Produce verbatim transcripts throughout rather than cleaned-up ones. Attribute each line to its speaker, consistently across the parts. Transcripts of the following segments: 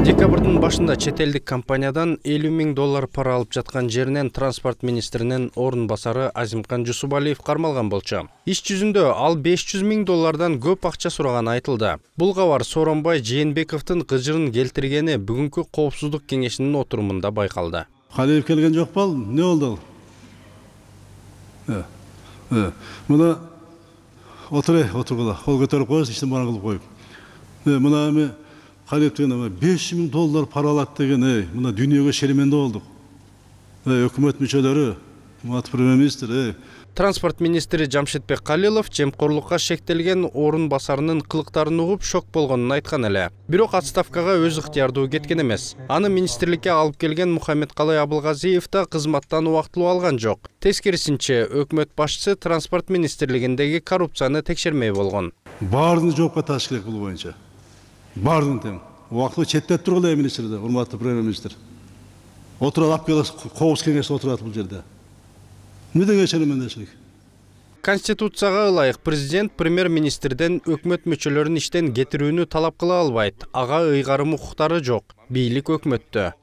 Speaker 1: Декабрдын башында чет элдик компаниядан элүү миң доллар пара алып жаткан жеринен транспорт министринин орун басары Азимкан Жусупалиев кармалган болчу. Иш жүзүндө ал беш жүз миң доллардан көп акча сураганы айтылды. Бул кабар Сооронбай Жээнбековдун кыжырын келтиргени бүгүнкү коопсуздук кеңешинин отурумунда байкалды.
Speaker 2: Калиев келген жок бол, не болду? Э. Э. Мына отур, отургула. Кол көтөрүп коюш, иштин баарын кылып коюп. Э, мына эми Калиев деген беш миң доллар пара алат деген, эй, мына дүйнөгө шеременде болдук. Эй, өкмөт мүчөлөрү, мат премьер-министр, эй.
Speaker 1: Транспорт министри Жамшитбек Калилов жемкорлукка шектелген орун басарынын кылыктарын угуп шок болгонун айткан эле. Бирок отставкага өз ыктыярдуу кеткен эмес. Аны министрликке алып келген Мухаммедкалый Абылгазиев да кызматтан убактылуу алган жок. Тескерисинче, өкмөт башчысы транспорт министрлигиндеги коррупцияны текшермей болгон.
Speaker 2: Баарын жоопко тартыш керек бул боюнча. Баарын тең. Убактылуу четтеп тургула министрде, урматтуу премьер-министр. Отурат алып келип коопсуз кеңеште отурат бул жерде. Эмнеге шеремендешилик?
Speaker 1: Конституцияга ылайык президент премьер-министрден өкмөт мүчөлөрүн иштен кетирүүнү талап кыла албайт. Ага ыйгарым укуктары жок. Бийлик өкмөттө.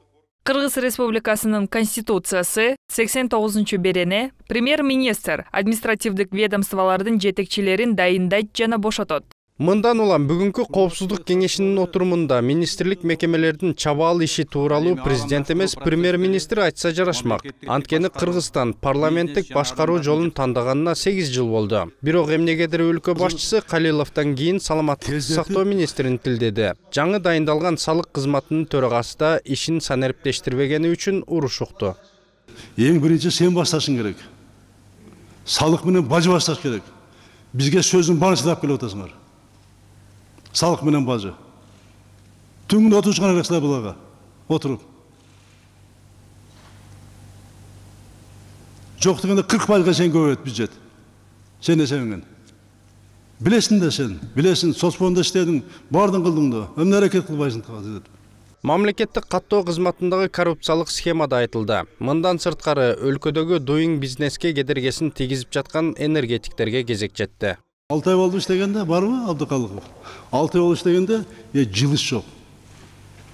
Speaker 3: Кыргыз Республикасынын Конституциясы сексен тогузунчу берене премьер-министр административдик ведомстволордун жетекчилерин дайындайт жана бошотот.
Speaker 1: Мындан улам бүгүнкү коопсуздук кеңешинин отурумунда министрлик мекемелердин чабаал иши тууралуу президент эмес премьер-министр айтса жарашмак. Анткени Кыргызстан парламенттик башкаруу жолун тандаганына сегиз жыл болду. Бирок эмнегедир өлкө башчысы Калиловдон кийин саламаттык сактоо министрин тилдеди. Жаңы дайындалган салык кызматынын төрагасы да ишин санариптештирбегени үчүн уруш укту.
Speaker 2: Эң биринчи сен башташың керек. Салык менен бажы башташ керек. Бизге сөздүн баарын чыдап келип атасыңар. Салык менен бажы. Түңүн отурушкан элексиңер булага. Отуруп. Жок дегенде кырк пайызга чейин көбөйөт бюджет. Сен эсебиңен. Билесиң да сен, билесиң, соцфондо иштедиң, баардын кылдың да. Эмне аракет кылбайсың казыр?
Speaker 1: Мамлекеттик каттоо кызматындагы коррупциялык схемада айтылды. Мындан сырткары өлкөдөгү Doing Business'ке кедергесин тийгизип жаткан энергетиктерге кезек жетти.
Speaker 2: алты ай болду иштегенде, барбы Абдыкалыков? алты ай болду иштегенде, э жылыш жок.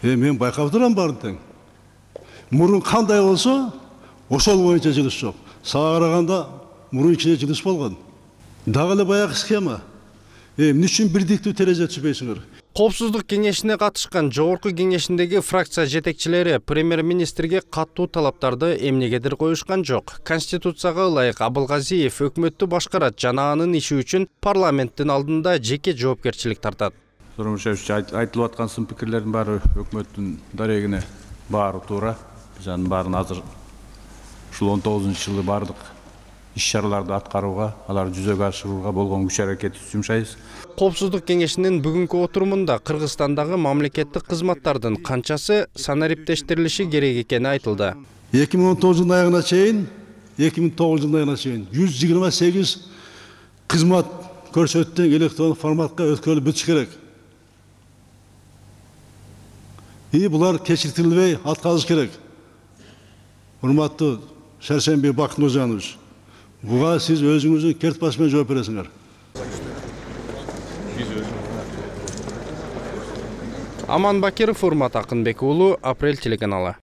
Speaker 2: Э мен байкап турам баарын тең. Мурун кандай болсо, ошол боюнча жылыш жок. Сага караганда мурун ичине жылыш болгон. Дагы эле баягы схема. Э эмне үчүн бирдиктүү терезе түзбөйсүңөр?
Speaker 1: Коопсуздук кеңешине катышкан жогорку кеңешиндеги фракция жетекчилери премьер-министрге каттуу талаптарды эмнегедир коюшкан жок. Конституцияга ылайык Абылгазиев өкмөттү башкарат жана анын иши үчүн парламенттин алдында жеке жоопкерчилик тартат.
Speaker 4: Сооронбаевич, айтылып аткан сын пикирлердин баары өкмөттүн дарегине баары туура. Биз анын баарын азыр ушул он тогузунчу жылы баардык иш-чараларды аткарууга, аларды жүзөгө ашырууга болгон күч аракетти жумшайбыз.
Speaker 1: Коопсуздук кеңешинин бүгүнкү отурумунда Кыргызстандагы мамлекеттик кызматтардын канчасы санариптештирилиши керек экени айтылды.
Speaker 2: эки миң он тогуз жылдын аягына чейин, эки миң тогуз жылдын аягына чейин жүз жыйырма сегиз кызмат көрсөтүн электрондук форматка өткөрүлүп бүтүш керек. И булар кечиртилбей аткарылыш керек. Урматтуу Шаршенбек Бакнуржанович, буга сиз өзүңүздүн керт баш менен жооп бересиңер.
Speaker 1: Аман Бакиров, Урмат Акынбек уулу, Апрель телеканалы.